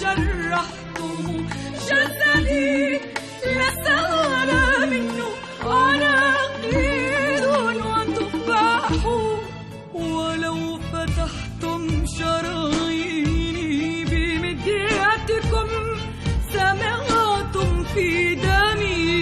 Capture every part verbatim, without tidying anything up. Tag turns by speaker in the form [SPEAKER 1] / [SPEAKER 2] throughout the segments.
[SPEAKER 1] شرحتم جسدي لسال منه عناقيد وتفاح، ولو فتحتم شراييني بمدياتكم سمعتم في دمي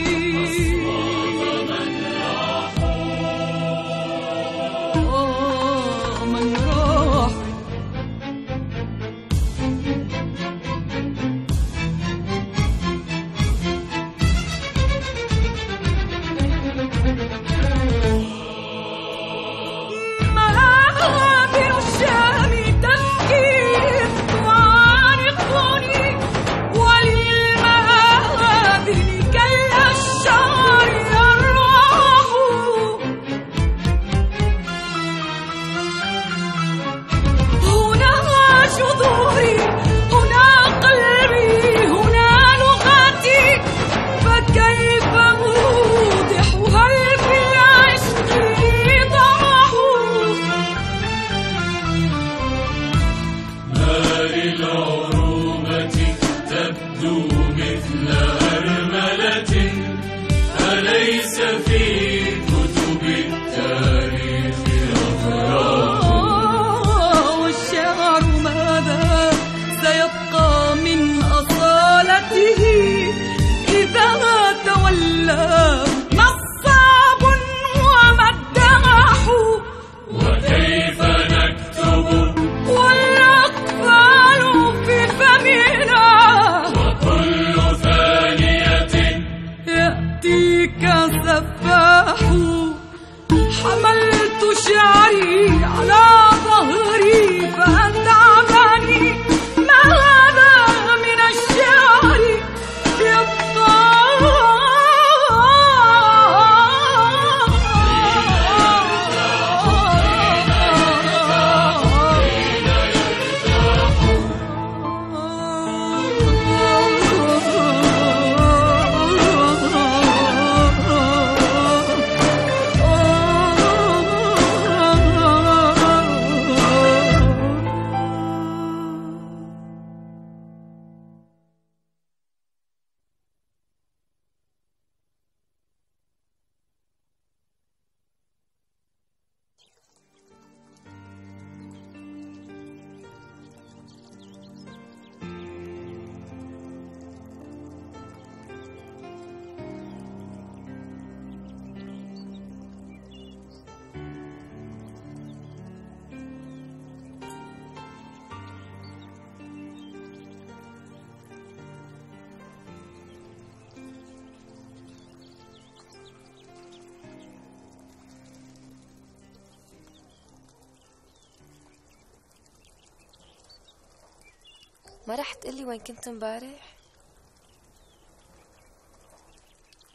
[SPEAKER 2] ما رح تقلي وين كنت امبارح؟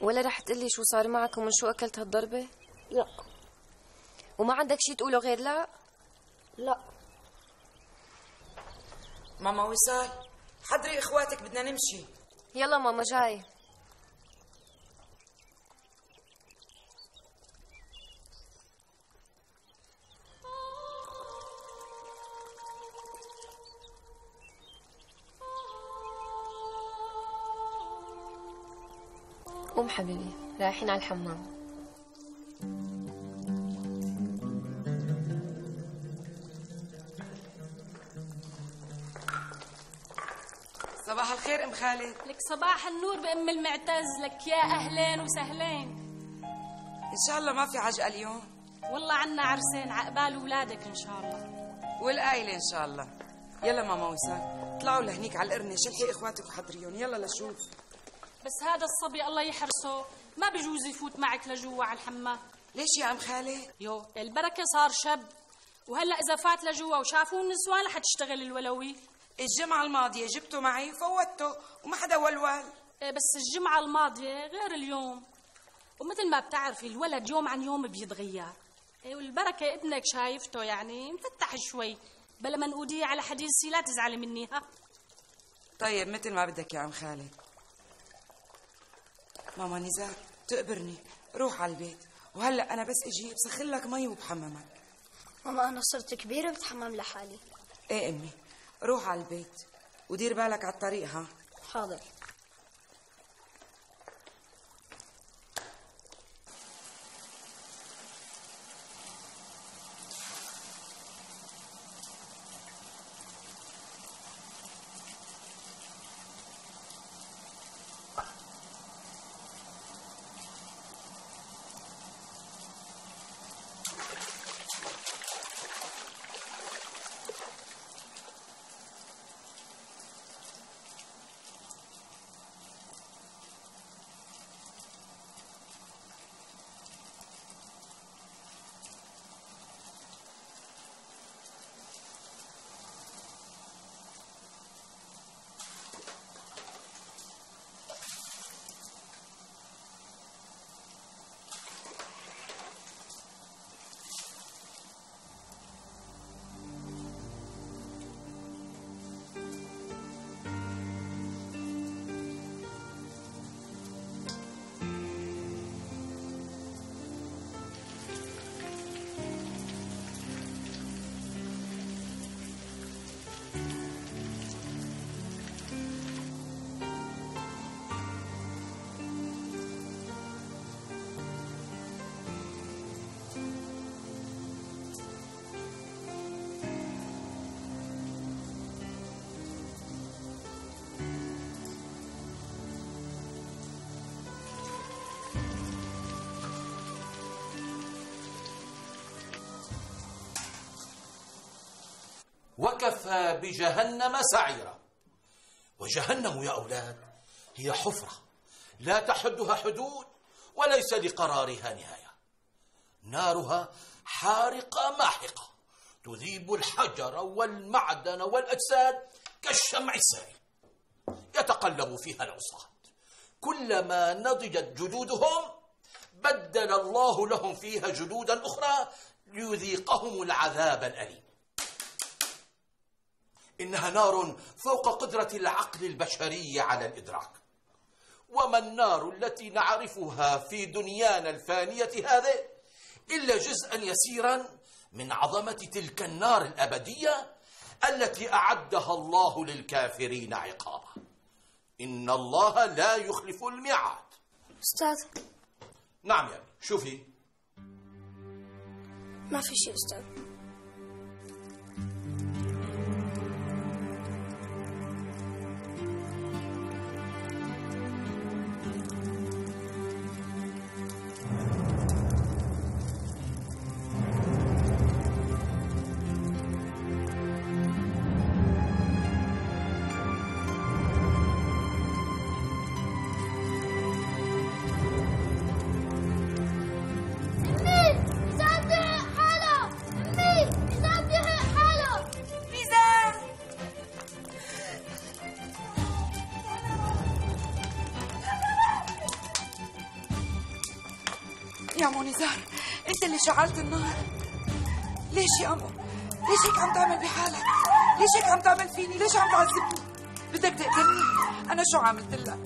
[SPEAKER 2] ولا رح تقلي شو صار معك ومن شو أكلت هالضربة؟
[SPEAKER 3] لا.
[SPEAKER 2] وما عندك شي تقوله غير لا؟
[SPEAKER 3] لا.
[SPEAKER 4] ماما وصال، حضري إخواتك بدنا نمشي.
[SPEAKER 2] يلا ماما جاي. قوم حبيبي، رايحين على الحمام.
[SPEAKER 4] صباح الخير ام خالد.
[SPEAKER 5] لك صباح النور بام المعتز، لك يا اهلين وسهلين.
[SPEAKER 4] ان شاء الله ما في عجقه اليوم.
[SPEAKER 5] والله عنا عرسين عقبال اولادك ان شاء الله.
[SPEAKER 4] والقايله ان شاء الله. يلا ماما وصال، طلعوا لهنيك على القرنه، شلحي اخواتك وحضريهم، يلا لشوف.
[SPEAKER 5] بس هذا الصبي الله يحرسه ما بجوز يفوت معك لجوا على الحمام.
[SPEAKER 4] ليش يا ام خالد؟
[SPEAKER 5] يو البركه صار شب، وهلا اذا فات لجوا وشافوه النسوان رح تشتغل الولوي.
[SPEAKER 4] الجمعه الماضيه جبته معي وفوتته وما حدا ولول.
[SPEAKER 5] إيه بس الجمعه الماضيه غير اليوم، ومثل ما بتعرفي الولد يوم عن يوم بيتغير. إيه والبركه ابنك شايفته يعني مفتح شوي، بلا ما نقوديه على حديثي لا تزعلي مني. ها
[SPEAKER 4] طيب مثل ما بدك يا عم خالد. ماما نزار تقبرني، روح على البيت، وهلا انا بس اجي بسخن لك مي وبحممك.
[SPEAKER 3] ماما انا صرت كبيره بتحمم لحالي.
[SPEAKER 4] ايه امي، روح على البيت. ودير بالك على الطريق. ها
[SPEAKER 5] حاضر.
[SPEAKER 3] وكفى بجهنم سعيرا. وجهنم يا أولاد هي حفرة لا تحدها حدود وليس لقرارها نهاية. نارها حارقة ماحقة تذيب الحجر والمعدن والأجساد كالشمع السائل. يتقلب فيها العصاة، كلما نضجت جلودهم بدل الله لهم فيها جلودا أخرى ليذيقهم العذاب الأليم. إنها نار فوق قدرة العقل البشري على الإدراك. وما النار التي نعرفها في دنيانا الفانية هذه إلا جزءا يسيرا من عظمة تلك النار الأبدية التي أعدها الله للكافرين عقابا. إن الله لا يخلف الميعاد.
[SPEAKER 6] أستاذ.
[SPEAKER 3] نعم يا ابني، شوفي.
[SPEAKER 6] ما في شيء أستاذ.
[SPEAKER 4] يا أمو نزار، أنت اللي شعلت النار. ليش يا أمو؟ ليش هيك عم تعمل بحالك؟ ليش هيك عم تعمل فيني؟ ليش عم تعذبني؟ بدك تقتلني؟ أنا شو عملت لك؟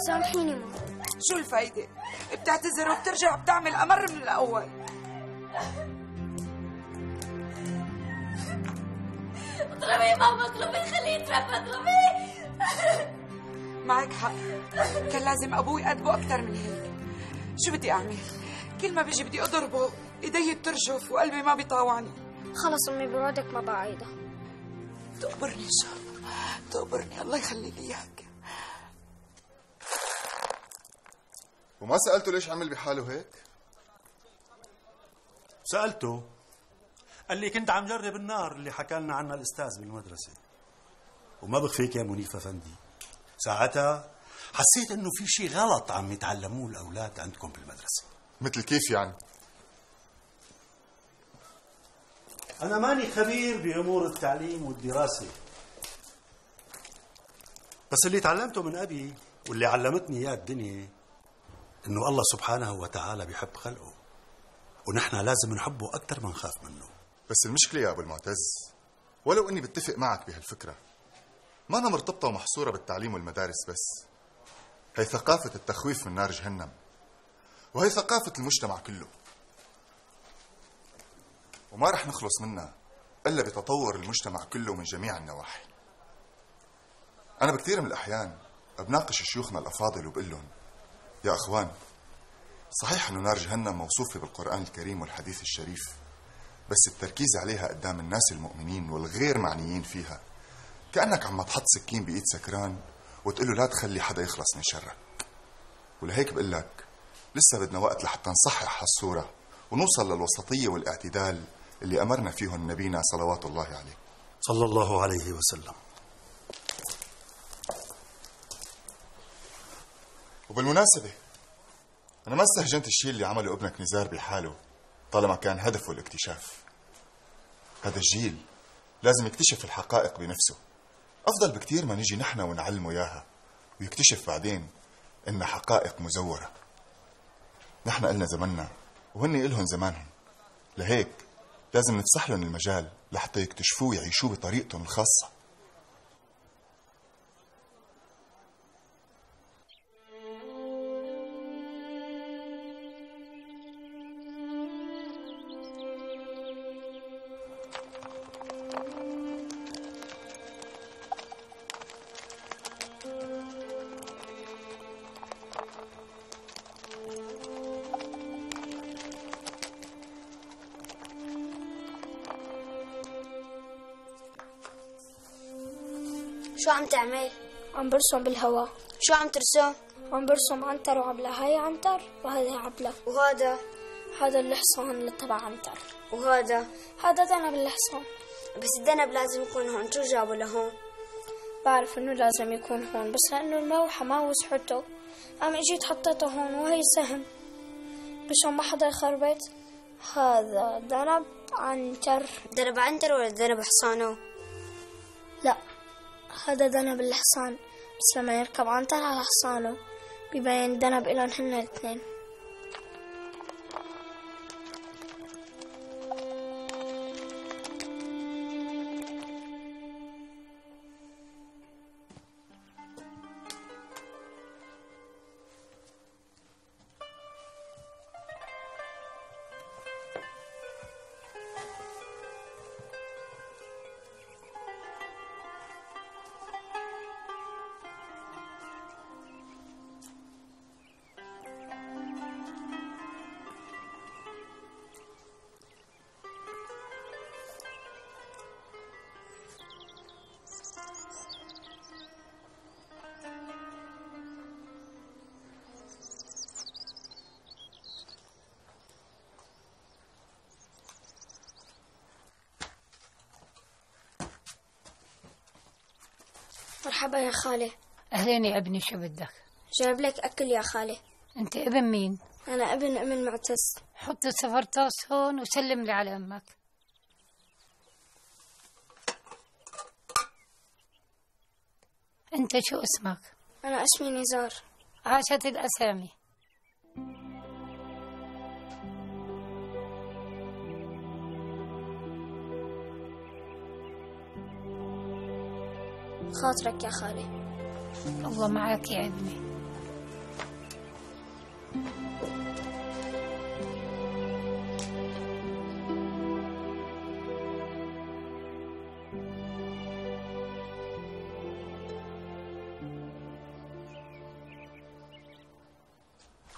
[SPEAKER 6] سامحيني ماما.
[SPEAKER 4] شو الفايدة؟ بتعتذر وبترجع بتعمل أمر من الأول.
[SPEAKER 6] اضربي ماما، اضربي، خليه يتربى، اضربي.
[SPEAKER 4] معك حق، كان لازم أبوي أدبه أكثر من هيك. شو بدي أعمل؟ كل ما بيجي بدي أضربه، إيدي بترجف وقلبي ما بيطاوعني.
[SPEAKER 6] خلص أمي، بوعدك ما بعيدها.
[SPEAKER 4] تقبرني إن شاء الله، تقبرني، الله يخلي لي إياك.
[SPEAKER 7] وما سألته ليش عمل بحاله هيك؟
[SPEAKER 8] سألته، قال لي كنت عم جرب النار اللي حكى لنا عنها الأستاذ بالمدرسة. وما بخفيك يا منيف أفندي، ساعتها حسيت إنه في شيء غلط عم يتعلموه الأولاد عندكم بالمدرسة.
[SPEAKER 7] مثل كيف يعني؟
[SPEAKER 8] أنا ماني خبير بأمور التعليم والدراسة، بس اللي تعلمته من أبي واللي علمتني إياه الدنيا إنه الله سبحانه وتعالى بيحب خلقه، ونحن لازم نحبه أكثر ما نخاف منه.
[SPEAKER 7] بس المشكلة يا أبو المعتز، ولو أني بتفق معك بهالفكرة، ما أنا مرتبطة ومحصورة بالتعليم والمدارس بس. هي ثقافة التخويف من نار جهنم، وهي ثقافة المجتمع كله، وما رح نخلص منها إلا بتطور المجتمع كله من جميع النواحي. أنا بكثير من الأحيان بناقش شيوخنا الأفاضل وبقول لهم: يا أخوان، صحيح أنه نار جهنم موصوفة بالقرآن الكريم والحديث الشريف، بس التركيز عليها قدام الناس المؤمنين والغير معنيين فيها كأنك عم تحط سكين بإيد سكران وتقول له لا تخلي حدا يخلص من شرك. ولهيك بقول لك لسه بدنا وقت لحتى نصحح هالصورة ونوصل للوسطية والاعتدال اللي أمرنا فيهم نبينا صلوات الله عليه
[SPEAKER 8] صلى الله عليه وسلم.
[SPEAKER 7] وبالمناسبة أنا ما استهجنت الشيء اللي عمله ابنك نزار بحاله طالما كان هدفه الاكتشاف. هذا الجيل لازم يكتشف الحقائق بنفسه، أفضل بكتير ما نجي نحن ونعلمه إياها ويكتشف بعدين إنها حقائق مزورة. نحن قلنا زمننا وهن إلهم زمانهم، لهيك لازم نفسح لهم المجال لحتى يكتشفوه ويعيشوه بطريقتهم الخاصة.
[SPEAKER 9] شو عم تعمل؟
[SPEAKER 10] عم برسم بالهواء.
[SPEAKER 9] شو عم ترسم؟
[SPEAKER 10] عم برسم عنتر وعبلة. هاي عنتر وهذه عبلة.
[SPEAKER 9] وهذا؟
[SPEAKER 10] هذا الحصان اللي تبع عنتر.
[SPEAKER 9] وهذا؟
[SPEAKER 10] هذا دنب الحصان.
[SPEAKER 9] بس الدنب لازم يكون هون، شو جابه لهون؟
[SPEAKER 10] بعرف انه لازم يكون هون، بس لانه المروحة ما وسعته قام اجيت حطيته هون، وهي سهم مشان ما حدا يخربط. هذا دنب عنتر.
[SPEAKER 9] دنب عنتر ولا دنب حصانه؟
[SPEAKER 10] لا، هذا دنب الحصان، بس لما يركب عنتر على حصانه بيبين دنب إلهم هن الاثنين. مرحبا يا خالي.
[SPEAKER 11] أهلين يا ابني، شو بدك؟
[SPEAKER 10] جايب لك أكل يا خالي.
[SPEAKER 11] أنت ابن مين؟
[SPEAKER 10] أنا ابن أم المعتز.
[SPEAKER 11] حط السفرطاس هون وسلم لي على أمك. أنت شو اسمك؟
[SPEAKER 10] أنا اسمي نزار.
[SPEAKER 11] عاشت الأسامي.
[SPEAKER 10] خاطرك يا خالي.
[SPEAKER 11] الله معك يا ابني.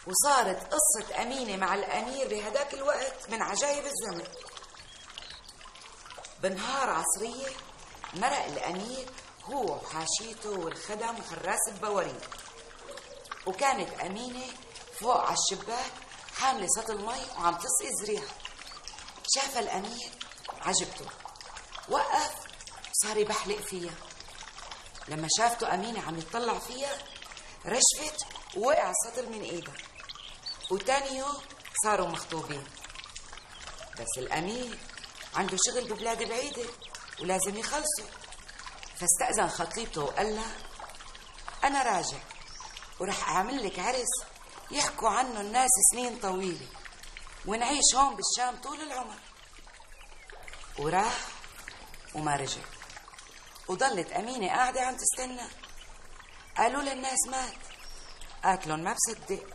[SPEAKER 4] وصارت قصة أمينة مع الأمير بهداك الوقت من عجائب الزمن. بنهار عصرية مرق الأمير هو وحاشيته والخدم وحراس البواريد، وكانت أمينة فوق على الشباك حاملة سطل مي وعم تسقي زريعة. شافها الأمير عجبته، وقف وصار يبحلق فيها. لما شافته أمينة عم يطلع فيها رشفت ووقع السطل من ايدها، وتاني يوم صاروا مخطوبين. بس الأمير عنده شغل ببلاد بعيدة ولازم يخلصوا، فاستأذن خطيبته وقال لها: أنا راجع ورح أعمل لك عرس يحكوا عنه الناس سنين طويلة، ونعيش هون بالشام طول العمر. وراح وما رجع، وضلت أمينة قاعدة عم تستنى. قالوا للناس مات، قالت لهم ما بصدق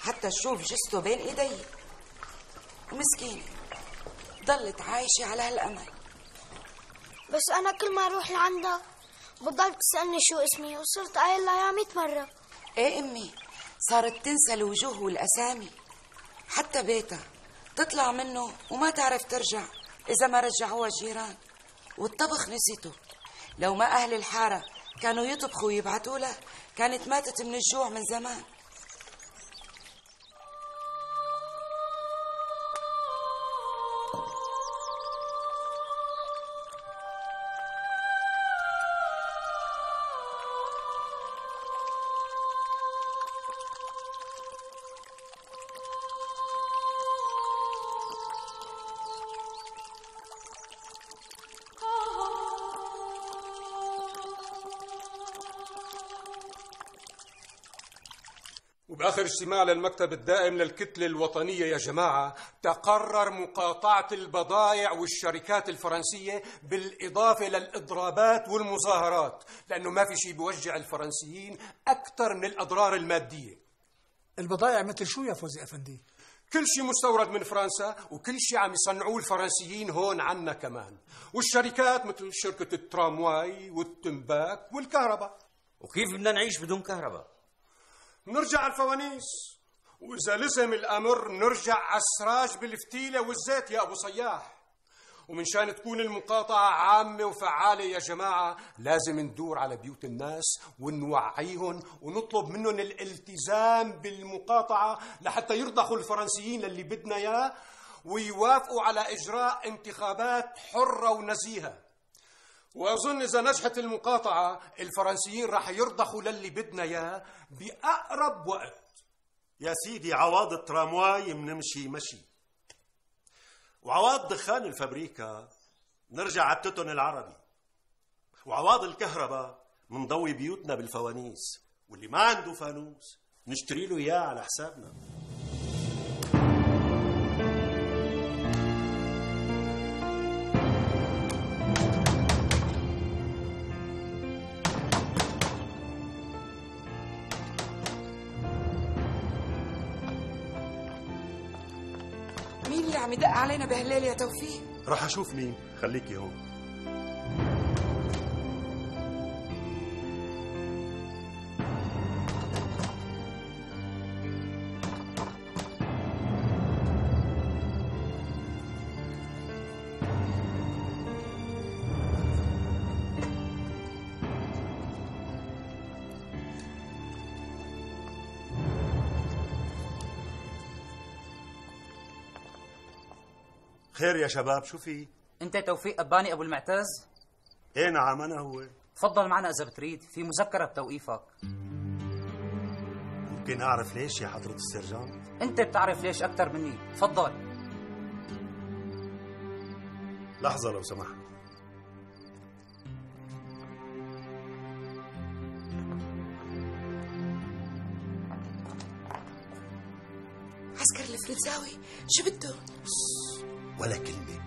[SPEAKER 4] حتى تشوف جثته بين ايدي. ومسكينة ضلت عايشة على هالأمل.
[SPEAKER 10] بس أنا كل ما أروح لعندها بتضل تسألني شو اسمي وصرت قايل لها يا ميت مرة.
[SPEAKER 4] ايه امي، صارت تنسى الوجوه والاسامي، حتى بيتها تطلع منه وما تعرف ترجع اذا ما رجعوها الجيران. والطبخ نسيته، لو ما اهل الحاره كانوا يطبخوا ويبعتوا لها كانت ماتت من الجوع من زمان.
[SPEAKER 12] وبآخر اجتماع للمكتب الدائم للكتلة الوطنية يا جماعة تقرر مقاطعة البضائع والشركات الفرنسية بالإضافة للإضرابات والمظاهرات، لأنه ما في شيء بيوجع الفرنسيين أكثر من الأضرار المادية.
[SPEAKER 13] البضائع مثل شو يا فوزي أفندي؟
[SPEAKER 12] كل شيء مستورد من فرنسا وكل شيء عم يصنعوه الفرنسيين هون عنا كمان، والشركات مثل شركة الترامواي والتنباك والكهرباء.
[SPEAKER 14] وكيف بدنا نعيش بدون كهرباء؟
[SPEAKER 12] نرجع على الفوانيس، وإذا لزم الأمر نرجع على السراج بالفتيلة والزيت يا أبو صياح. ومن شان تكون المقاطعة عامة وفعالة يا جماعة لازم ندور على بيوت الناس ونوعيهم ونطلب منهم الالتزام بالمقاطعة لحتى يرضخوا الفرنسيين للي بدنا إياه ويوافقوا على إجراء انتخابات حرة ونزيهة. وأظن إذا نجحت المقاطعة الفرنسيين راح يرضخوا للي بدنا إياه بأقرب وقت.
[SPEAKER 8] يا سيدي عواض الترامواي منمشي مشي، وعواض دخان الفابريكا نرجع على التوتن العربي، وعواض الكهرباء منضوي بيوتنا بالفوانيس، واللي ما عنده فانوس نشتري له إياه على حسابنا.
[SPEAKER 4] مين اللي عم يدق علينا بهالليل يا توفيق؟
[SPEAKER 8] راح أشوف مين، خليكي هون. خير يا شباب، شو في؟
[SPEAKER 14] انت توفيق أباني ابو المعتز؟
[SPEAKER 8] ايه نعم انا هو.
[SPEAKER 14] تفضل معنا اذا بتريد، في مذكرة بتوقيفك.
[SPEAKER 8] ممكن اعرف ليش يا حضرة السرجان؟
[SPEAKER 14] انت بتعرف ليش اكثر مني، تفضل.
[SPEAKER 8] لحظة لو سمحت.
[SPEAKER 4] عسكر الفرنساوي شو بده؟
[SPEAKER 8] ولا كلمة،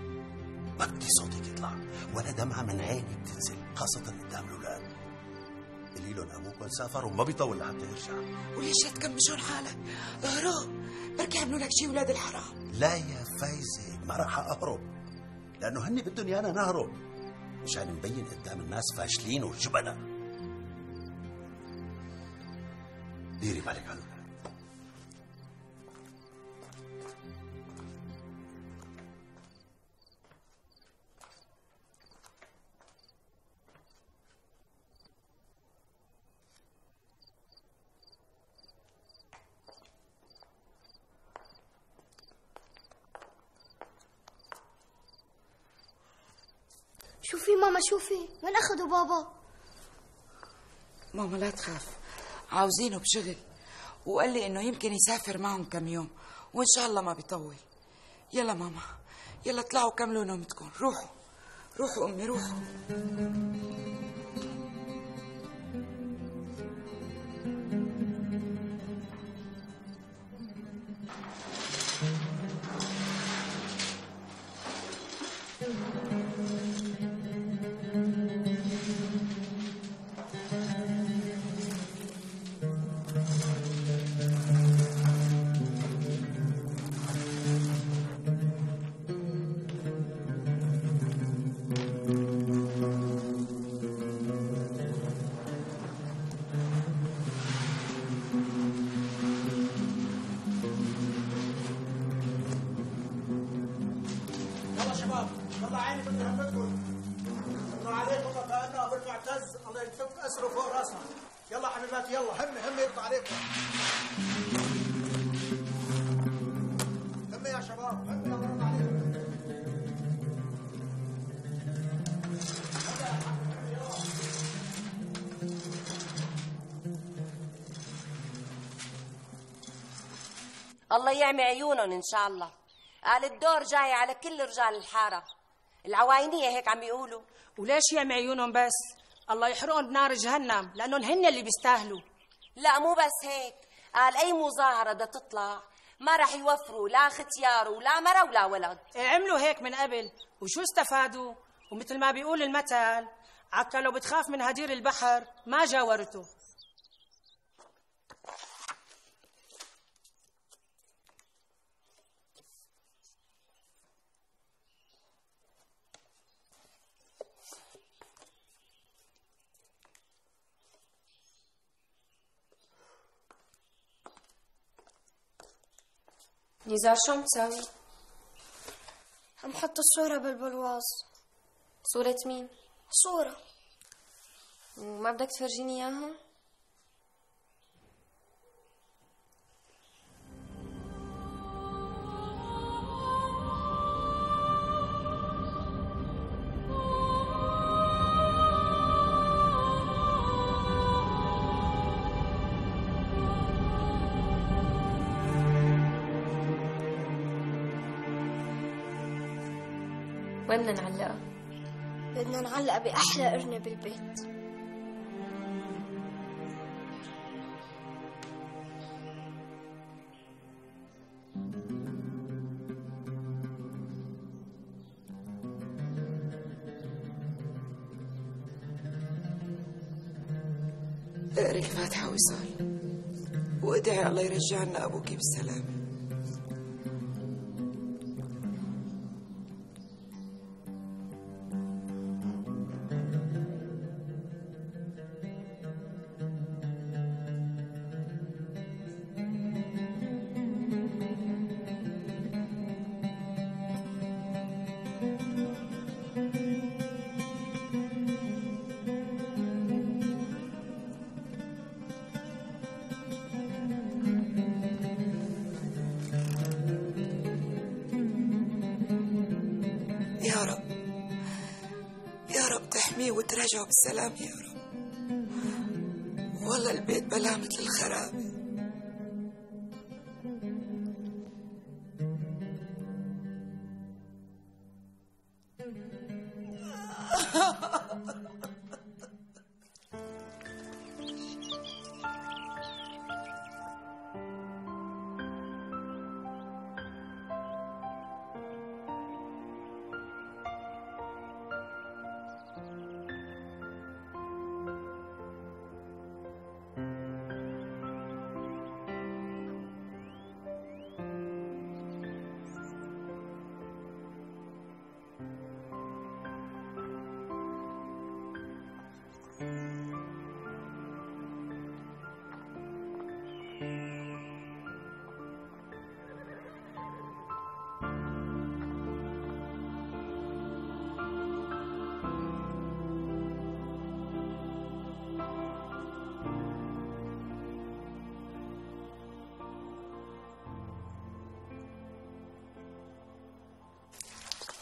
[SPEAKER 8] ما بدي صوتك يطلع ولا دمعة من عيني بتنزل، خاصة قدام الأولاد. قولي لهم أبوكم سافر وما بيطول لحتى يرجع.
[SPEAKER 4] وليش لا تكمشون حالك؟ اهرب، بركي يعملوا لك شيء ولاد الحرام.
[SPEAKER 8] لا يا فايزة، ما راح أهرب، لأنه هني بدهم إيانا نهرب مشان نبين قدام الناس فاشلين وجبنة. ديري بالك على الأولاد.
[SPEAKER 10] شوفي ماما شوفي، وين أخذوا بابا؟
[SPEAKER 4] ماما لا تخاف، عاوزينه بشغل، وقال لي إنه يمكن يسافر معهم كم يوم وإن شاء الله ما بيطول. يلا ماما، يلا اطلعوا كملوا نومتكم، روحوا روحوا أمي روحوا.
[SPEAKER 15] والله عيني بدي همتكم. الله عليكم كأنه أبو المعتز، الله يكفك أسره فوق راسنا. يلا حبيباتي يلا، همي همي يطلع عليكم. همي يا شباب، همي الله يرضى عليكم.
[SPEAKER 16] الله يعمي عيونهم إن شاء الله. قال الدور جاي على كل رجال الحارة، العواينية هيك عم يقولوا.
[SPEAKER 5] وليش يعمي عيونهم بس؟ الله يحرقهم بنار جهنم، لأنهم هن اللي بيستاهلوا.
[SPEAKER 16] لا مو بس هيك، قال أي مظاهرة بدها تطلع ما رح يوفروا لا ختيار ولا مرة ولا ولد.
[SPEAKER 5] عملوا هيك من قبل وشو استفادوا؟ ومثل ما بيقول المثل، عكا لو بتخاف من هدير البحر ما جاورته.
[SPEAKER 2] نزار شو عم تساوي؟
[SPEAKER 10] عم حط الصورة بالبرواز.
[SPEAKER 2] صورة مين؟
[SPEAKER 10] صورة.
[SPEAKER 2] وما بدك تفرجيني اياها؟ وين بدنا نعلقها؟
[SPEAKER 10] بدنا نعلقها بأحلى قرنة بالبيت.
[SPEAKER 4] اقري الفاتحة وصال وادعي الله يرجع لنا أبوك بالسلامة. يا رب يا رب تحميه وترجعه بالسلام يا رب. والله البيت بلا مثل الخرابة.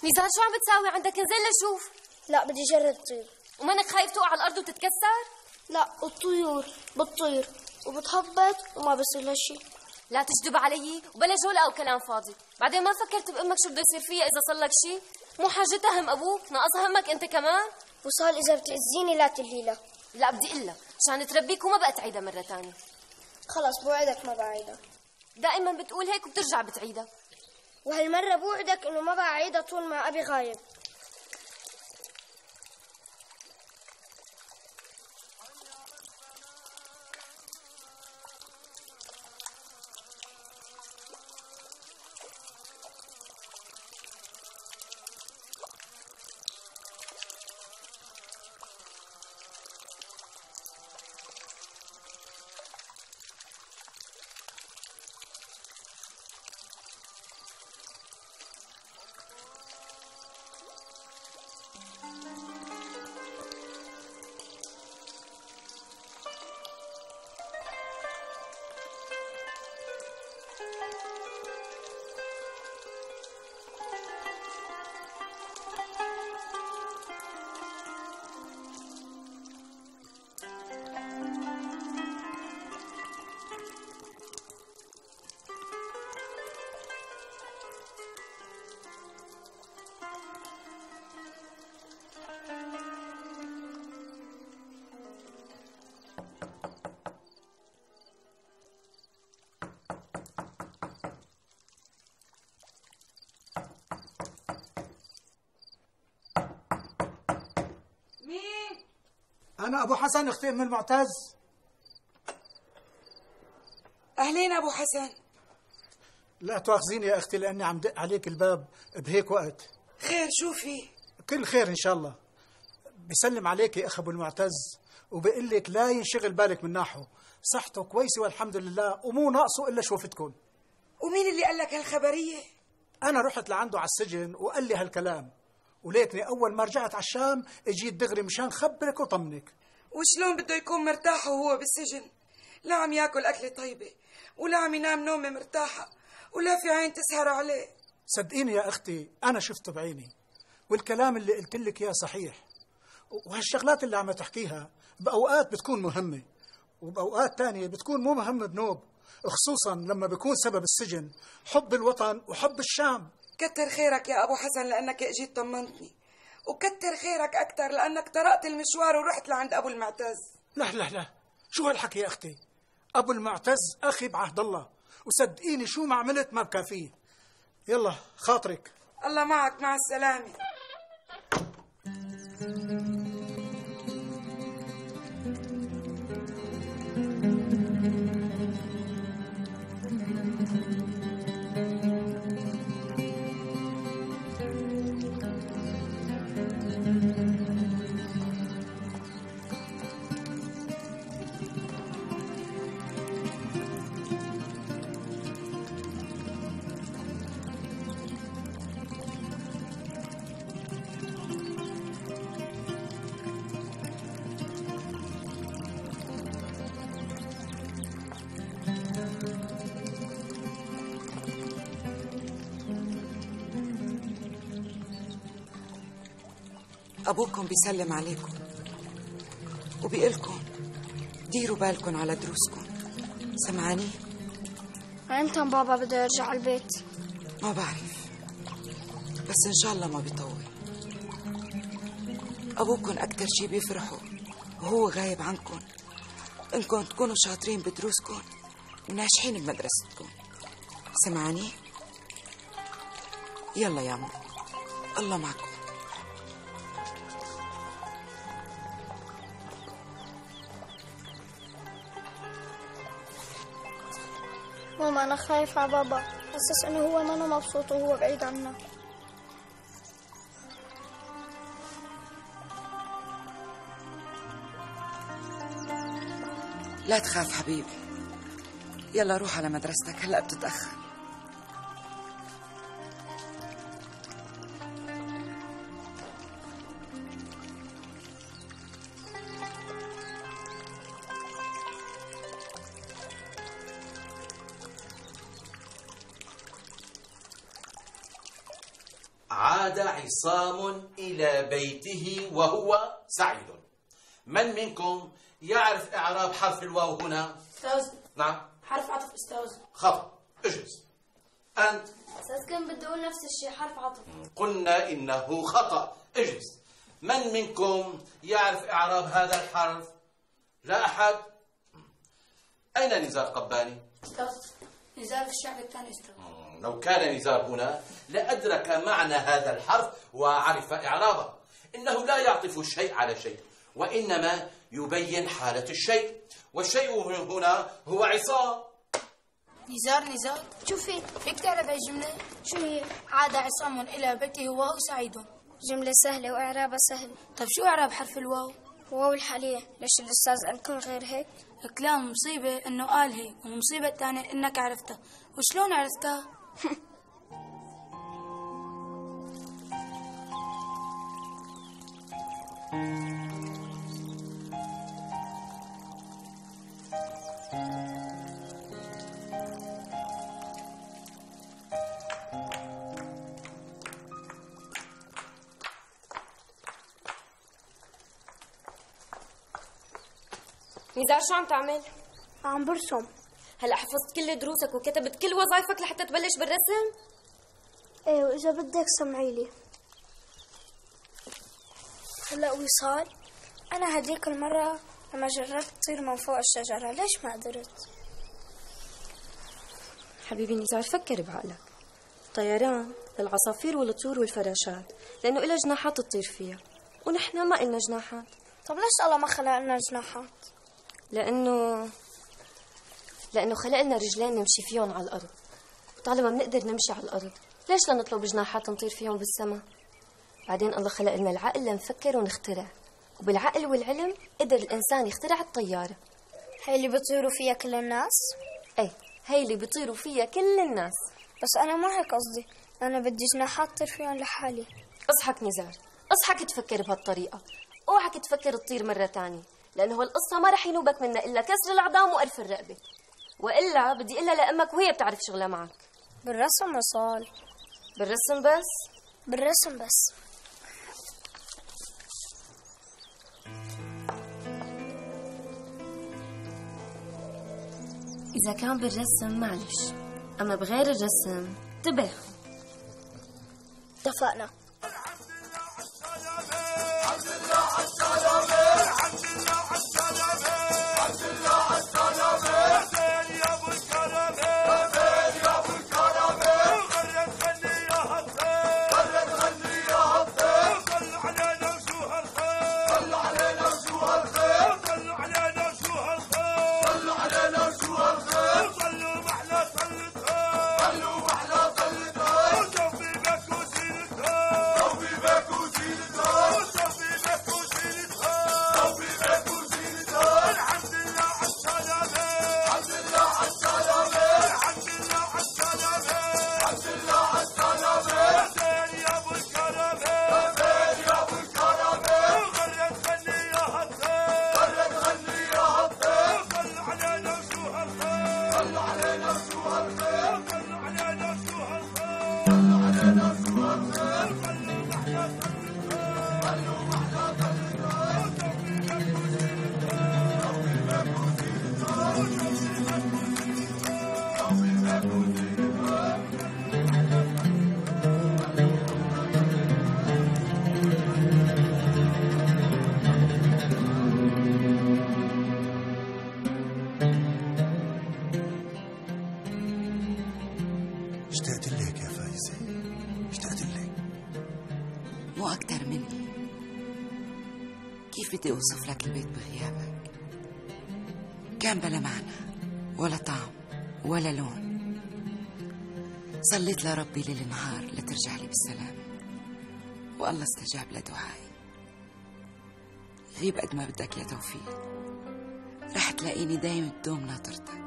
[SPEAKER 2] نزار شو عم بتساوي عندك؟ انزل لشوف.
[SPEAKER 10] لا بدي جرب طير.
[SPEAKER 2] ومنك خايف تقع على الارض وتتكسر؟
[SPEAKER 10] لا الطيور بتطير وبتهبط وما بصير لها شيء.
[SPEAKER 2] لا تكذب علي وبلا جولة او كلام فاضي. بعدين ما فكرت بامك شو بده يصير فيها اذا صار لك شيء؟ مو حاجتها هم ابوك، ناقص همك انت كمان.
[SPEAKER 10] وصال اذا بتأذيني لا تقولي لها.
[SPEAKER 2] لا بدي اقول لها عشان تربيك وما بقى تعيدها مره ثانيه.
[SPEAKER 10] خلص بوعدك ما بعيدها.
[SPEAKER 2] دائما بتقول هيك وبترجع بتعيدها.
[SPEAKER 10] وهالمرة بوعدك انه ما بعيدها طول ما ابي غايب.
[SPEAKER 13] أنا أبو حسن أختي أم المعتز.
[SPEAKER 4] أهلين أبو حسن.
[SPEAKER 13] لا تواخذيني يا أختي لأني عم دق عليك الباب بهيك وقت.
[SPEAKER 4] خير شو في؟
[SPEAKER 13] كل خير إن شاء الله. بيسلم عليك يا أخ أبو المعتز وبقول لك لا ينشغل بالك من ناحه، صحته كويسة والحمد لله ومو ناقصه إلا شوفتكم.
[SPEAKER 4] ومين اللي قال لك هالخبرية؟
[SPEAKER 13] أنا رحت لعنده على السجن وقال لي هالكلام، وليتني أول ما رجعت على الشام اجيت دغري مشان خبرك وطمنك.
[SPEAKER 4] وشلون بده يكون مرتاح وهو بالسجن؟ لا عم ياكل أكلة طيبة ولا عم ينام نومة مرتاحة ولا في عين تسهر عليه.
[SPEAKER 13] صدقيني يا أختي أنا شفته بعيني، والكلام اللي قلت لك إياه صحيح، وهالشغلات اللي عم تحكيها بأوقات بتكون مهمة وبأوقات تانية بتكون مو مهمة بنوب، خصوصا لما بيكون سبب السجن حب الوطن وحب الشام.
[SPEAKER 4] كتر خيرك يا أبو حسن لأنك اجيت طمنتني، وكتر خيرك أكتر لأنك طرقت المشوار ورحت لعند أبو المعتز.
[SPEAKER 13] لا لا لا، شو هالحكي يا أختي؟ أبو المعتز أخي بعهد الله، وصدقيني شو ما عملت ما بكافيه. يلا خاطرك.
[SPEAKER 4] الله معك، مع السلامة. أبوكم بيسلم عليكم وبيقلكم ديروا بالكم على دروسكم، سمعاني؟
[SPEAKER 10] امتى بابا بده يرجع على البيت؟
[SPEAKER 4] ما بعرف، بس إن شاء الله ما بيطول. أبوكم أكتر شي بيفرحوا وهو غايب عنكم إنكم تكونوا شاطرين بدروسكم وناجحين بمدرستكم، سمعاني؟ يلا يا ماما، الله معكم.
[SPEAKER 10] ماما أنا خايف على بابا، حاسس إنه هو ما أنا مبسوط وهو بعيد عنا.
[SPEAKER 4] لا تخاف حبيبي، يلا روح على مدرستك، هلأ بتتأخر.
[SPEAKER 3] عاد عصام إلى بيته وهو سعيد. من منكم يعرف إعراب حرف الواو هنا؟
[SPEAKER 6] أستاذ.
[SPEAKER 3] نعم.
[SPEAKER 6] حرف عطف أستاذ.
[SPEAKER 3] خطأ، اجلس. أنت؟
[SPEAKER 10] أستاذ كان بده يقول نفس الشيء، حرف عطف.
[SPEAKER 3] قلنا إنه خطأ، اجلس. من منكم يعرف إعراب هذا الحرف؟ لا أحد؟ أين نزار قباني؟
[SPEAKER 6] أستاذ نزار في الشعب الثاني أستاذ.
[SPEAKER 3] لو كان نزار هنا لأدرك معنى هذا الحرف وعرف إعرابه. إنه لا يعطف الشيء على شيء، وإنما يبين حالة الشيء، والشيء هنا هو عصام.
[SPEAKER 6] نزار نزار
[SPEAKER 10] شوفي
[SPEAKER 6] فيك تعرف هالجملة؟
[SPEAKER 10] شو هي؟
[SPEAKER 6] عاد عصام إلى بيته وهو سعيد.
[SPEAKER 10] جملة سهلة وإعرابها سهل.
[SPEAKER 6] طب شو إعراب حرف الواو؟
[SPEAKER 10] واو الحالية. ليش الأستاذ قالكم غير هيك؟
[SPEAKER 6] كلام مصيبة إنه قال هيك، والمصيبة الثانية إنك عرفتها. وشلون عرفتها؟
[SPEAKER 2] نزار شو عم تعمل؟
[SPEAKER 10] عم برسم.
[SPEAKER 2] هلا حفظت كل دروسك وكتبت كل وظائفك لحتى تبلش بالرسم؟
[SPEAKER 10] ايه، واذا بدك سمعي لي. هلا وصال، انا هديك المرة لما جربت طير من فوق الشجرة ليش ما قدرت؟
[SPEAKER 17] حبيبي نزار فكر بعقلك. طيران للعصافير والطيور والفراشات، لأنه إلها جناحات تطير فيها، ونحن ما إلنا جناحات.
[SPEAKER 10] طب ليش الله ما خلق لنا جناحات؟
[SPEAKER 2] لأنه لأنه خلق لنا رجلين نمشي فيهم على الأرض. طالما بنقدر نمشي على الأرض ليش لا نطلب جناحات نطير فيهم بالسما؟ بعدين الله خلق لنا العقل لنفكر ونخترع، وبالعقل والعلم قدر الإنسان يخترع الطيارة.
[SPEAKER 10] هي اللي بيطيروا فيها كل الناس؟
[SPEAKER 2] ايه، هي اللي بيطيروا فيها كل الناس.
[SPEAKER 10] بس أنا ما هيك قصدي، أنا بدي جناحات طير فيهم لحالي.
[SPEAKER 2] اصحك نزار، اصحك تفكر بهالطريقة، اوعك تفكر تطير مرة تانية، لأنه هالقصة ما رح ينوبك منها إلا كسر العظام وقرف الرقبة، وإلا بدي إلا لأمك وهي بتعرف شغلها معك.
[SPEAKER 10] بالرسم وصال.
[SPEAKER 2] بالرسم بس؟
[SPEAKER 10] بالرسم بس.
[SPEAKER 2] إذا كان بالرسم معلش، أما بغير الرسم انتبه.
[SPEAKER 10] اتفقنا.
[SPEAKER 8] اشتقت لك يا فايزة، اشتقت لك.
[SPEAKER 4] مو أكتر مني. كيف بدي أوصف لك البيت بغيابك؟ كان بلا معنى ولا طعم ولا لون. صليت لربي ليل نهار لترجع لي بالسلام، والله استجاب لدعائي. غيب قد ما بدك يا توفيق، رح تلاقيني دايم بدوم ناطرتك.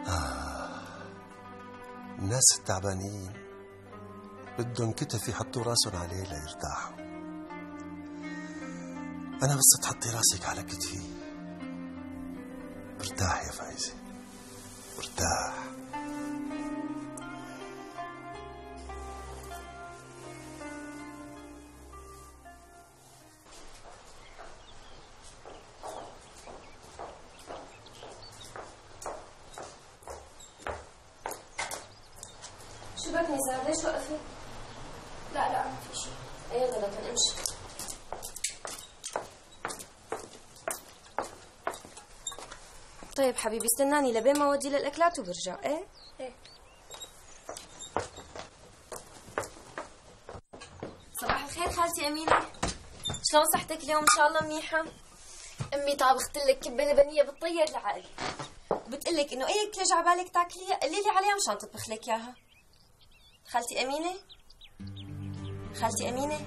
[SPEAKER 18] آه. الناس التعبانين بدهم كتف يحطوا راسهم عليه ليرتاحوا. أنا بس تحطي راسك على كتفي برتاح يا فايزة، برتاح.
[SPEAKER 2] شو بك نزار؟ ليش وقفت؟
[SPEAKER 10] لا لا ما في شيء.
[SPEAKER 2] ايه غلط، امشي. طيب حبيبي استناني لبين ما اودي للاكلات وبرجع. ايه
[SPEAKER 10] ايه.
[SPEAKER 2] صباح الخير خالتي أمينة، شلون صحتك اليوم؟ ان شاء الله منيحة. امي طابخت لك كبة لبنية بتطير العقل، وبتقلك انه اي اكلة جعبالك تاكليها قلي لي عليها مشان تطبخ لك اياها. خالتي أمينة، خالتي أمينة،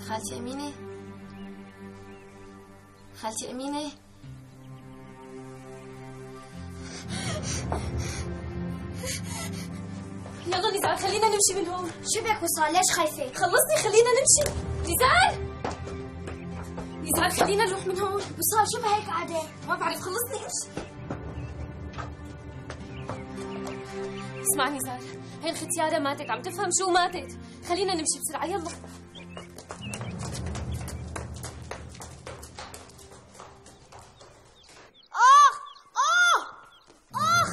[SPEAKER 2] خالتي أمينة، خالتي أمينة. يلا نزار خلينا نمشي من هون.
[SPEAKER 10] شو بك وصال؟ ليش خايفة؟
[SPEAKER 2] خلصني خلينا نمشي. نزار نزار خلينا نروح من هون.
[SPEAKER 10] وصال شو بهيك قعدة؟
[SPEAKER 2] ما بعرف، خلصني امشي. اسمع نزار، هي الختيارة ماتت، عم تفهم شو ماتت. خلينا نمشي بسرعة يلا.
[SPEAKER 10] آخ آخ آخ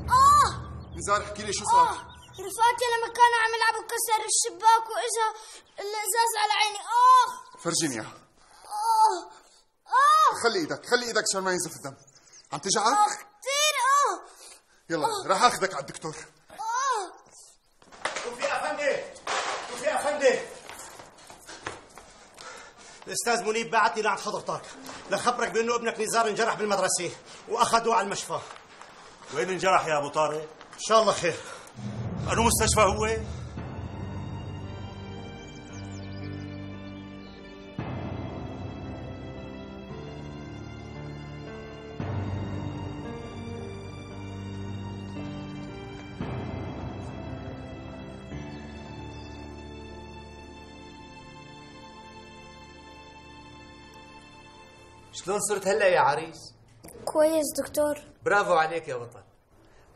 [SPEAKER 10] آخ.
[SPEAKER 7] نزار احكي لي شو صار؟
[SPEAKER 10] رفقاتي لما كانوا عم يلعبوا كسر الشباك واجا الازاز على عيني. آخ
[SPEAKER 7] فرجيني اياها.
[SPEAKER 10] آه آه.
[SPEAKER 7] خلي ايدك، خلي ايدك عشان ما ينزف الدم. عم تجعك؟
[SPEAKER 10] آه كثير. آه
[SPEAKER 7] يلا راح اخذك على الدكتور.
[SPEAKER 12] توفيق افندي، توفيق افندي، الاستاذ منيب بعتني لعند حضرتك لخبرك بانه ابنك نزار انجرح بالمدرسه واخذوه على المشفى.
[SPEAKER 8] وين انجرح يا ابو طارق؟
[SPEAKER 12] ان شاء الله خير.
[SPEAKER 8] انو مستشفى هو؟
[SPEAKER 19] شلون صرت هلا يا عريس؟
[SPEAKER 10] كويس دكتور.
[SPEAKER 19] برافو عليك يا بطل.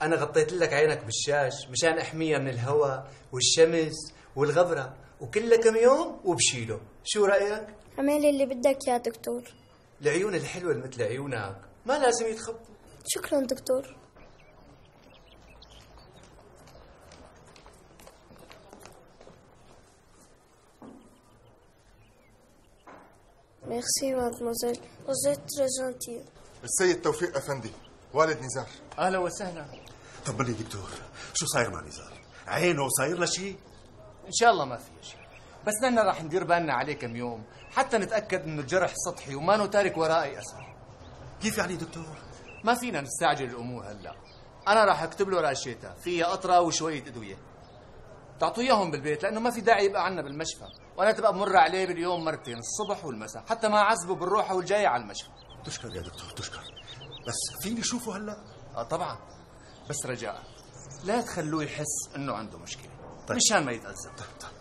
[SPEAKER 19] أنا غطيت لك عينك بالشاش مشان أحميها من الهواء والشمس والغبرة، وكلها كم يوم وبشيله. شو رأيك؟
[SPEAKER 10] اعمل اللي بدك يا دكتور.
[SPEAKER 19] العيون الحلوة اللي مثل عيونك ما لازم يتخبطوا.
[SPEAKER 10] شكرا دكتور. ميرسي مادموزيل، vous êtes très gentille.
[SPEAKER 7] السيد توفيق افندي والد نزار.
[SPEAKER 19] اهلا وسهلا.
[SPEAKER 8] طب لي دكتور، شو صاير مع نزار؟ عينه صاير له شيء؟
[SPEAKER 19] ان شاء الله ما في شيء، بس نحن راح ندير بالنا عليه كم يوم حتى نتاكد انه الجرح سطحي وما تارك وراء اي اثر.
[SPEAKER 8] كيف يعني دكتور؟
[SPEAKER 19] ما فينا نستعجل الامور هلا. انا راح اكتب له راشيتا فيها قطره وشويه ادويه، تعطوا اياهم بالبيت لانه ما في داعي يبقى عنا بالمشفى، وانا تبقى بمر عليه باليوم مرتين الصبح والمساء حتى ما اعذبه بالروحه والجايه على المشفى.
[SPEAKER 8] تشكر يا دكتور تشكر، بس فيني اشوفه هلا؟
[SPEAKER 19] اه طبعا، بس رجاء لا تخلوه يحس انه عنده مشكله.
[SPEAKER 8] طيب.
[SPEAKER 19] مشان ما يتأذى.
[SPEAKER 8] طيب طيب.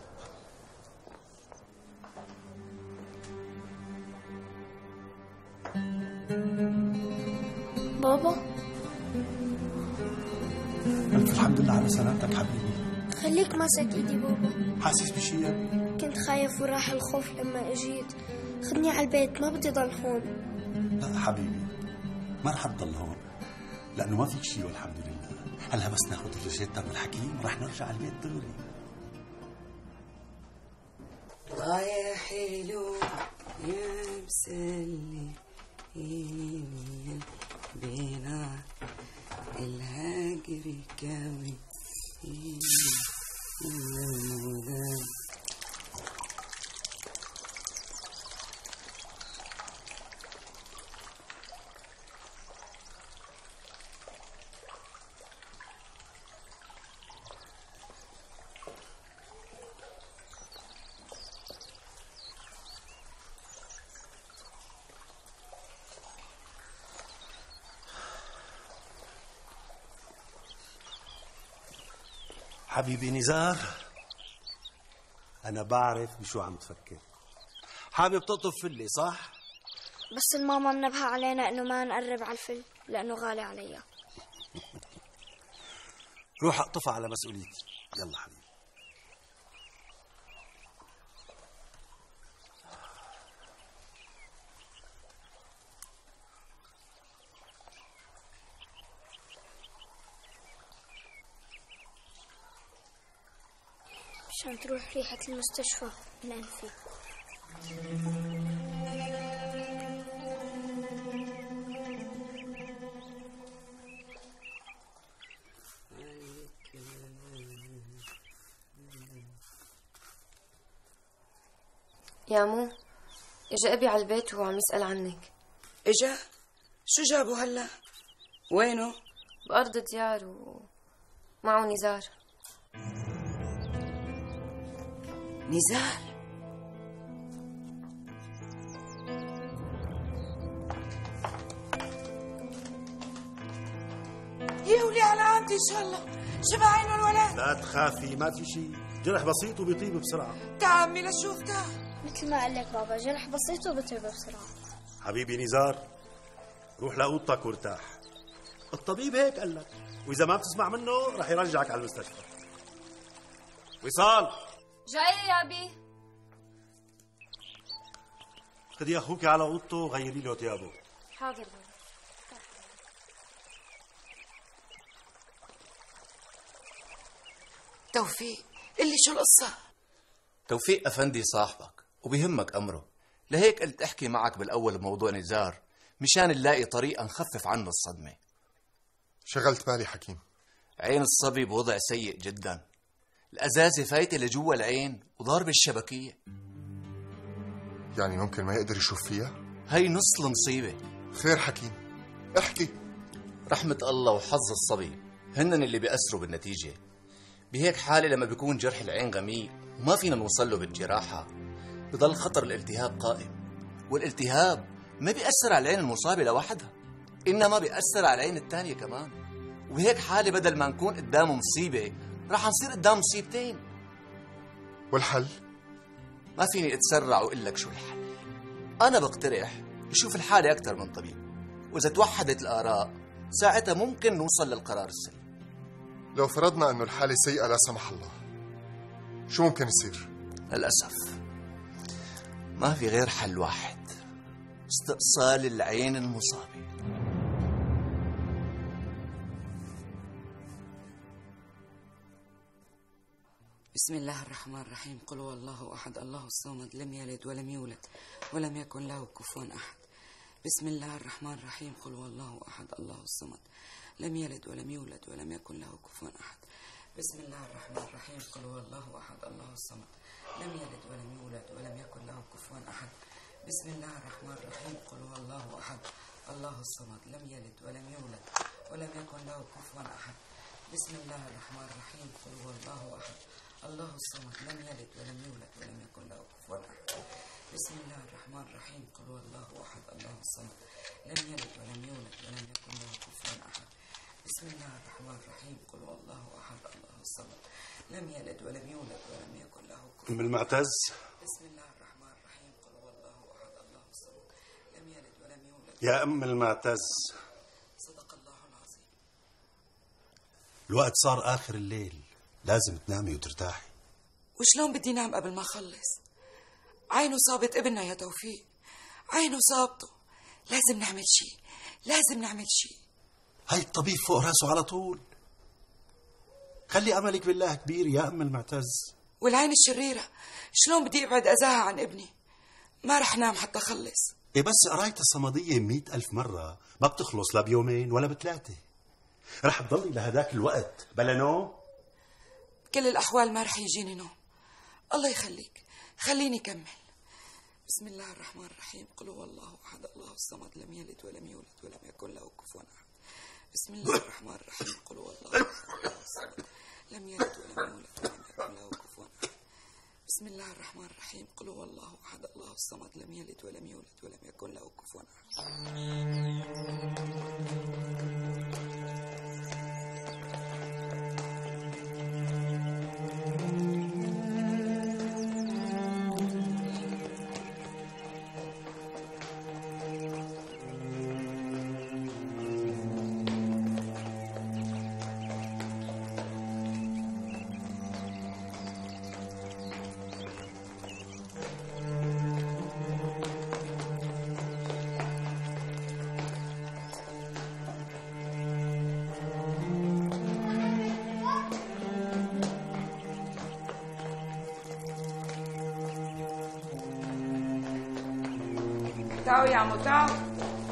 [SPEAKER 10] بابا
[SPEAKER 8] ألف الحمد لله على سلامتك حبيبي.
[SPEAKER 10] خليك ماسك ايدي بابا.
[SPEAKER 8] حاسس بشيء يا ابني؟
[SPEAKER 10] كنت خايف وراح الخوف لما اجيت. خدني على البيت، ما بدي ضل هون.
[SPEAKER 8] لا حبيبي ما رح تضل هون لأنه ما فيك شيء والحمد لله. هلا بس ناخذ الروشتة من الحكيم ورح نرجع على البيت دغري.
[SPEAKER 16] الله يا حلو يا مسلي إيميا بينا الهاجري كاوي إيميا.
[SPEAKER 8] حبيبي نزار، أنا بعرف بشو عم تفكر. حابب تقطف فلي صح؟
[SPEAKER 10] بس الماما منبهة علينا انه ما نقرب على الفل لانه غالي عليها.
[SPEAKER 8] روح اقطفها على مسؤوليتي. يلا حبيبي.
[SPEAKER 10] عشان تروح ريحة المستشفى من أنفي.
[SPEAKER 2] يا مو، اجا ابي على البيت وهو عم يسأل عنك.
[SPEAKER 16] اجا؟ شو جابه هلا؟ وينه؟
[SPEAKER 2] بأرض ديار ومعه نزار.
[SPEAKER 16] نزار؟
[SPEAKER 4] يا ولي على عمتي ان شاء الله. شبع عينه الولد؟
[SPEAKER 8] لا تخافي ما في شيء، جرح بسيط وبيطيب بسرعة.
[SPEAKER 4] تعمي لشوف تعال.
[SPEAKER 10] مثل ما قال لك بابا، جرح بسيط وبطيب بسرعة.
[SPEAKER 8] حبيبي نزار، روح لأوضتك وارتاح. الطبيب هيك قال لك، وإذا ما بتسمع منه رح يرجعك على المستشفى. وصال
[SPEAKER 2] جاي يا أبي.
[SPEAKER 8] خدي أخوك على أوضته وغيري له ثيابه.
[SPEAKER 2] حاضر بابا.
[SPEAKER 4] توفيق قل لي شو القصة؟
[SPEAKER 3] توفيق أفندي صاحبك وبيهمك أمره، لهيك قلت أحكي معك بالأول بموضوع نزار مشان نلاقي طريقة نخفف عنه الصدمة.
[SPEAKER 7] شغلت بالي حكيم.
[SPEAKER 19] عين الصبي بوضع سيء جدا، الأزازة فايتة لجوا العين وضارب الشبكية.
[SPEAKER 7] يعني ممكن ما يقدر يشوف فيها؟
[SPEAKER 19] هي نص المصيبة.
[SPEAKER 7] خير حكيم، احكي.
[SPEAKER 19] رحمة الله وحظ الصبي هنن اللي بيأثروا بالنتيجة. بهيك حالة لما بيكون جرح العين غميق وما فينا نوصل له بالجراحة، بضل خطر الالتهاب قائم، والالتهاب ما بيأثر على العين المصابة لوحدها، إنما بيأثر على العين الثانية كمان. وبهيك حالة بدل ما نكون قدام مصيبة راح نصير قدام مصيبتين.
[SPEAKER 7] والحل؟
[SPEAKER 19] ما فيني اتسرع واقول لك شو الحل. انا بقترح يشوف الحالة اكثر من طبيب، واذا توحدت الاراء ساعتها ممكن نوصل للقرار السليم.
[SPEAKER 7] لو فرضنا انه الحالة سيئة لا سمح الله، شو ممكن يصير؟
[SPEAKER 19] للاسف ما في غير حل واحد، استئصال العين المصابة.
[SPEAKER 4] بسم الله الرحمن الرحيم. قل هو الله أحد الله الصمد لم يلد ولم يولد ولم يكن له كفوا أحد. بسم الله الرحمن الرحيم. قل هو الله أحد الله الصمد لم يلد ولم يولد ولم يكن له كفوا أحد. بسم الله الرحمن الرحيم. قل هو الله أحد الله الصمد لم يلد ولم يولد ولم يكن له كفوا أحد. بسم الله الرحمن الرحيم. قل هو الله أحد الله الصمد لم يلد ولم يولد ولم يكن له كفوا أحد. بسم الله الرحمن الرحيم. قل هو الله أحد الله الصمد لم يلد ولم يولد ولم يكن له كفوا أحد. بسم الله الرحمن الرحيم. قل هو الله أحد الله الصمد لم يلد ولم يولد ولم يكن له كفوا أحد. بسم الله الرحمن الرحيم. قل هو الله أحد الله الصمد لم يلد ولم يولد ولم يكن له كفوا أحد.
[SPEAKER 8] أم المعتز.
[SPEAKER 4] بسم الله الرحمن الرحيم. قل هو الله أحد الله الصمد لم يلد ولم يولد.
[SPEAKER 8] يا أم المعتز،
[SPEAKER 4] صدق الله العظيم.
[SPEAKER 8] الوقت صار آخر الليل، لازم تنامي وترتاحي.
[SPEAKER 4] وشلون بدي نام قبل ما أخلص؟ عينه صابت ابننا يا توفيق، عينه صابته. لازم نعمل شيء، لازم نعمل شيء.
[SPEAKER 8] هاي الطبيب فوق راسه على طول. خلي أملك بالله كبير يا أم المعتز.
[SPEAKER 4] والعين الشريرة شلون بدي أبعد أذاها عن ابني؟ ما رح نام حتى أخلص.
[SPEAKER 8] إيه بس قراية الصمدية مئة ألف مرة ما بتخلص لا بيومين ولا بثلاثة. رح تضلي لهداك الوقت بلا نوم؟
[SPEAKER 4] بكل الأحوال ما رح يجيني نوم. الله يخليك، خليني كمل. بسم الله الرحمن الرحيم. قل هو الله أحد الله الصمد لم يلد ولم يولد ولم يكن له كفوا أحد. بسم الله الرحمن الرحيم. قل هو الله أحد الله الصمد لم يلد ولم يولد ولم يكن له كفوا أحد. بسم الله الرحمن الرحيم. قل هو الله أحد الله الصمد لم يلد ولم يولد ولم يكن له كفوا أحد. تعالوا يا عمو، تعالوا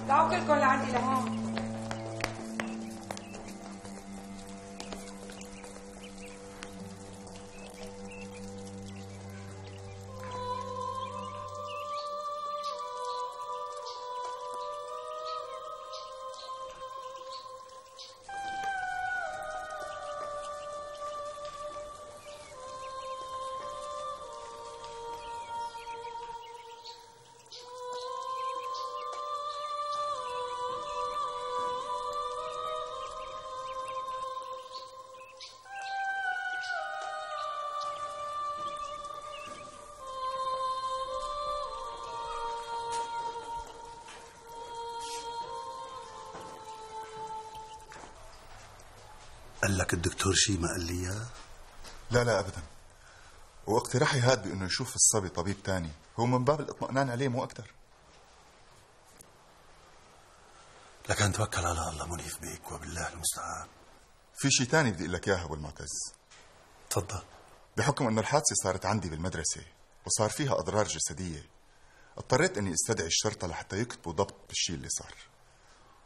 [SPEAKER 4] تعالوا كلكم لعندي لهون.
[SPEAKER 8] قال لك الدكتور شيء ما قال لي اياه؟
[SPEAKER 7] لا لا ابدا، واقتراحي هاد بانه يشوف الصبي طبيب تاني هو من باب الاطمئنان عليه مو اكثر.
[SPEAKER 8] لكن توكل على الله منيف بيك وبالله المستعان.
[SPEAKER 7] في شيء تاني بدي اقول لك اياه ابو المعتز.
[SPEAKER 8] تفضل.
[SPEAKER 7] بحكم انه الحادثه صارت عندي بالمدرسه وصار فيها اضرار جسديه، اضطريت اني استدعي الشرطه لحتى يكتبوا ضبط بالشيء اللي صار،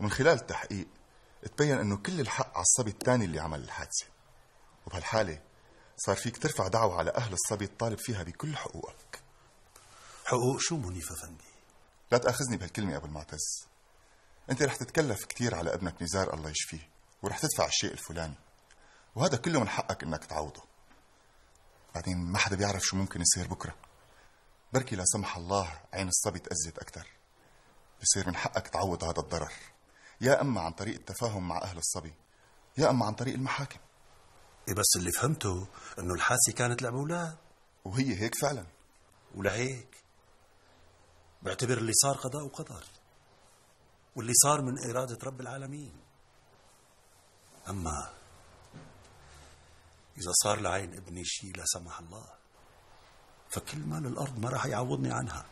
[SPEAKER 7] ومن خلال التحقيق تبين انه كل الحق على الصبي الثاني اللي عمل الحادثة، وبهالحالة صار فيك ترفع دعوة على أهل الصبي تطالب فيها بكل حقوقك.
[SPEAKER 8] حقوق شو منيف أفندي؟
[SPEAKER 7] لا تأخذني بهالكلمة يا أبو المعتز. أنت رح تتكلف كتير على ابنك نزار الله يشفيه، ورح تدفع الشيء الفلاني، وهذا كله من حقك إنك تعوضه. بعدين ما حدا بيعرف شو ممكن يصير بكرة. بركي لا سمح الله عين الصبي تأذت أكتر، بصير من حقك تعوض هذا الضرر، يا أما عن طريق التفاهم مع أهل الصبي، يا أما عن طريق المحاكم.
[SPEAKER 8] إيه بس اللي فهمته إنه الحادثة كانت لعب أولاد،
[SPEAKER 7] وهي هيك فعلا.
[SPEAKER 8] ولهيك بعتبر اللي صار قضاء وقدر، واللي صار من إرادة رب العالمين. أما إذا صار لعين ابني شيء لا سمح الله، فكل مال الأرض ما راح يعوضني عنها.